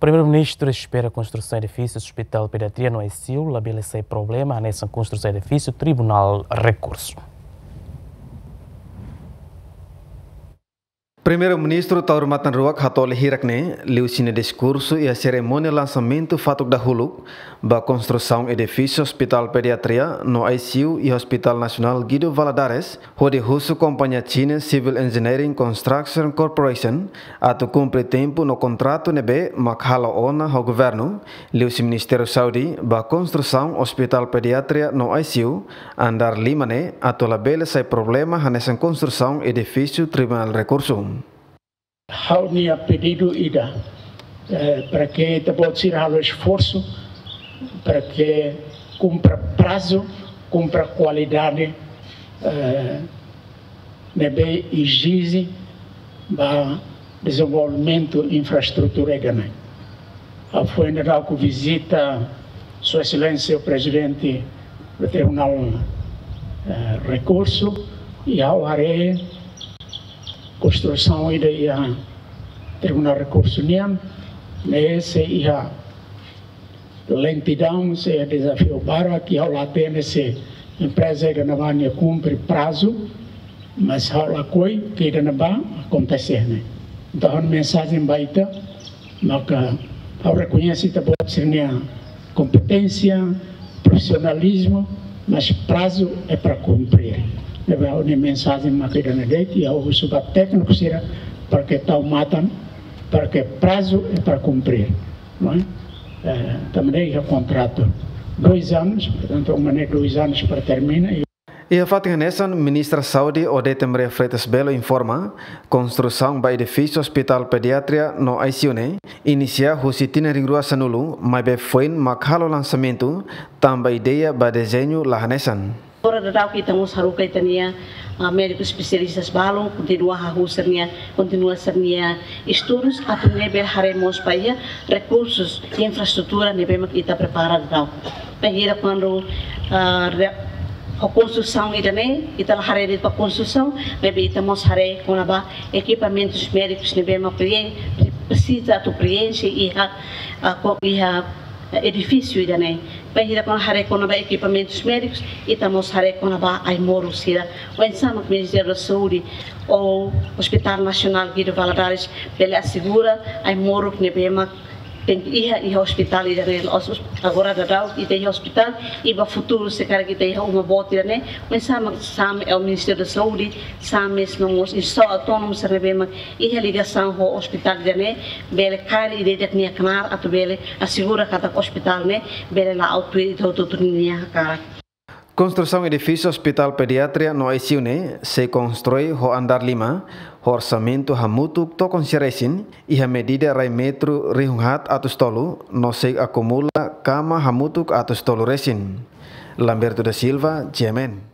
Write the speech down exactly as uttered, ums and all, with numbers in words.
Primeiru-Ministru espera konstrusaun edifísiu Hospital Pediatria no I C U labele sai problema hanesan konstrusaun edifísiu Tribunál Rekursu. Primeiru-Ministru Taur Matan Ruak hatoli hirak ne'e liuhusi nia diskursu iha serimónia lansamentu fatuk dahuluk ba konstrusaun edifísiu Hospital Pediatria no I C U iha Hospital Nasionál Guido Valadares, hodi husu kompañia China Civil Engineering Construction Corporation atu kumpre tempu no kontratu ne'ebé mak halo ona ho governu, liuhusi Ministériu Saúde ba konstrusaun Hospital Pediatria no I C U andár lima ne'e atu labele sai problema hanesan konstrusaun edifísiu Tribunál Rekursu. Ha'u-nia pedidu ida, eh, para ke ita-boot sira halo esforsu, para ke kumpre prazu, kumpre kualidade, eh, ne'ebé ezije ba dezenvolvimentu infraestrutura ida-ne'e. Ha'u foin daudauk vizita Sua Exelénsia Prezidente Tribunál, eh, Rekursu, i ha'u haree konstrusaun ida iha Tribunál Rekursu nian, ne'e sei iha lentidaun, sei iha dezafiu barak, i ha'u la hatene se empreza ida-ne'ebá nia kumpre prazu, mas ha'u lakohi ke ida-ne'ebá akontese ne'e. Entaun, mensajen ba ita, maka ha'u rekoñese ita-boot sira-nia kompeténsia, profisionalizmu, mas prazu é para cumprir. Ne'ebé ha'u-nia mensajen maka ida-ne'e de'it, i ha'u husu ba tékniku sira para ke tau matan, para ke prazu é para cumprir, não é? Eh, tanba ne'e iha kontratu dois anos, portantu, uma ne'e dois anos para termina, i Iha fatin hanesan, Ministra Saúde Odete Maria Freitas Belo informa, konstrusaun ba edifísiu Hospital Pediatria no I C U ne'e inisia husi tinan rihun rua sanulu, maibé foin mak halo lansamentu, tanba ideia ba dezeñu la hanesan. Agora daudauk ita mós haruka ita-nia, ah, médiku espesialista balun, kontinua hahú sira-nia, kontinua sira-nia estudus, atu nune'e bele haree mós ba iha rekursus i infraestrutura ne'ebé mak ita prepara daudaun. Bainhira kuandu, ah, re-, ho konstrusaun ida-ne'e, ita la haree de'it ba konstrusaun, maibé ita mós haree kona-ba ekipamentus médikus ne'ebé mak preen-, presiza atu preenxe iha, ah, ko-, iha edifísiu ida-ne'e. Bainhira kuandu haree kona-ba ekipamentus médikus, ita mós haree kona-ba ai-moruk sira. Oinsá mak Ministériu da Saúde ou Hospital Nasionál Guido Valadares bele asegura ai-moruk ne'ebé mak tenke iha, iha ospitál ida-ne'e. Os-, os-, agora daudaun ita iha ospitál, i ba futuru se karik ita iha uma boot ida-ne'e, oinsá mak SAMES, eh, Ministériu da Saúde, SAMES no mós instituisaun autónomu sira ne'ebé mak iha ligasaun ho ospitál ida-ne'e, bele kaer ida-idak nia knaar atu bele asegura katak ospitál ne'e bele la'o tuir ita hotu-hotu nia hakarak. Konstrusaun edifísiu Hospital Pediatria no I C U ne'e sei konstrui ho andár lima, ho orsamentu hamutuk to'o konsia resin, iha medida rai metru rihun haat atus tolu, no sei akumula kama hamutuk atus tolu resin. Lamberto da Silva, G M N.